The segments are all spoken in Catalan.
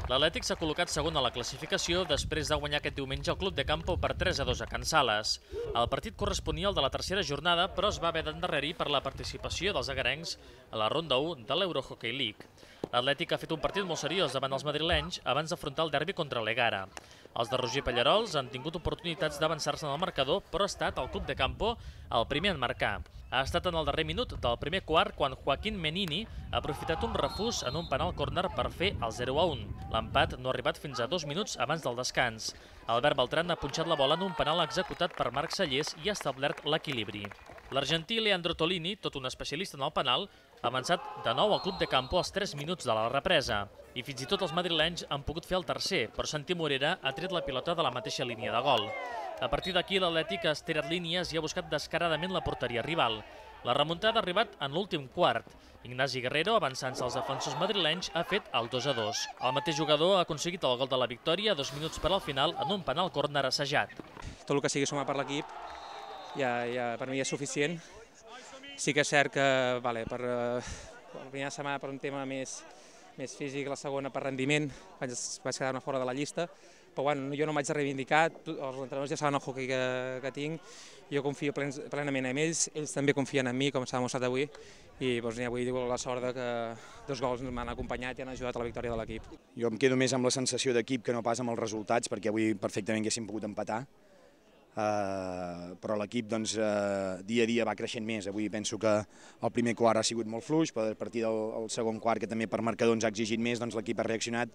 L'Atlètic s'ha col·locat segon a la classificació després de guanyar aquest diumenge el Club de Campo per 3-2 a Can Sales. El partit corresponia al de la tercera jornada, però es va haver d'endarrerir per la participació dels agarencs a la ronda 1 de l'Eurohockey League. L'Atlètic ha fet un partit molt seriós davant els madrilenys abans d'afrontar el derbi contra l'Egara. Els de Roger Pallarols han tingut oportunitats d'avançar-se en el marcador, però ha estat el Club de Campo el primer en marcar. Ha estat en el darrer minut del primer quart quan Joaquín Menini ha aprofitat un refús en un penal córner per fer el 0-1. L'empat no ha arribat fins a 2 minuts abans del descans. Albert Beltran ha punxat la bola en un penal executat per Marc Sallés i ha establert l'equilibri. L'argentí Leandro Tolini, tot un especialista en el penal, ha avançat de nou al Club de Campo als 3 minuts de la represa. I fins i tot els madrilenys han pogut fer el tercer, però Santi Morera ha tret la pilota de la mateixa línia de gol. A partir d'aquí, l'Atlètic ha estirat línies i ha buscat descaradament la porteria rival. La remuntada ha arribat en l'últim quart. Ignasi Guerrero, avançant-se als defensors madrilenys, ha fet el 2-2. El mateix jugador ha aconseguit el gol de la victòria 2 minuts per al final en un penal córner assajat. Tot el que sigui sumar per l'equip ja per mi és suficient. Sí que és cert que per la primera setmana per un tema més físic, la segona per rendiment, vaig quedar-me fora de la llista, però jo no m'haig de reivindicar, els entrenadors ja saben el hoquei que tinc, jo confio plenament en ells, ells també confien en mi, com s'ha demostrat avui, i avui diu la sort que 2 gols m'han acompanyat i han ajudat a la victòria de l'equip. Jo em quedo més amb la sensació d'equip que no pas amb els resultats, perquè avui perfectament haguéssim pogut empatar, però l'equip dia a dia va creixent més. Avui penso que el primer quart ha sigut molt fluix, però a partir del segon quart, que també per marcador ens ha exigit més, l'equip ha reaccionat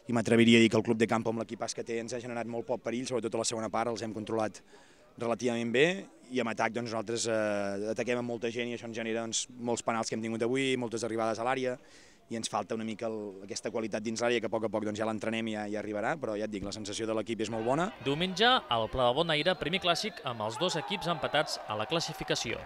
i m'atreviria a dir que el Club de Campo amb l'equipàs que té ens ha generat molt poc perill, sobretot a la segona part els hem controlat relativament bé i en atac nosaltres ataquem amb molta gent i això ens genera molts penals que hem tingut avui, moltes arribades a l'àrea i ens falta una mica aquesta qualitat dins l'àrea que a poc ja l'entrenem i ja arribarà, però ja et dic, la sensació de l'equip és molt bona. Diumenge, al Pla de Bonaire, primer clàssic amb els 2 equips empatats a la classificació.